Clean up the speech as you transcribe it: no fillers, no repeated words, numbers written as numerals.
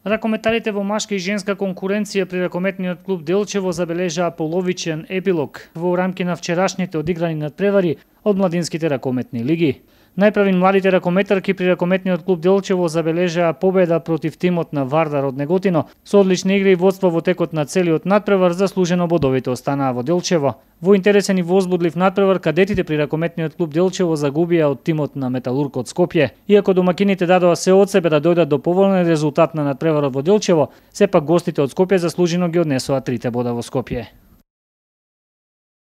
Ракометарите во машка и женска конкуренција при ракометниот клуб Делчево забележаа половичен епилог во рамки на вчерашните одиграни надпревари од младинските ракометни лиги. Најпрвин младите ракометарки при ракометниот клуб Делчево забележаа победа против тимот на Вардар од Неготино. Со одлични игри и водство во текот на целиот надпревар заслужено бодовите останаа во Делчево. Во интересен и возбудлив надпревар кадетите при ракометниот клуб Делчево загубија од тимот на Металург од Скопје. Иако домакините дадоа се од себе да дојдат до поволен резултат на надпреварот во Делчево, сепак гостите од Скопје заслужено ги однесоа 3 бода во Скопје.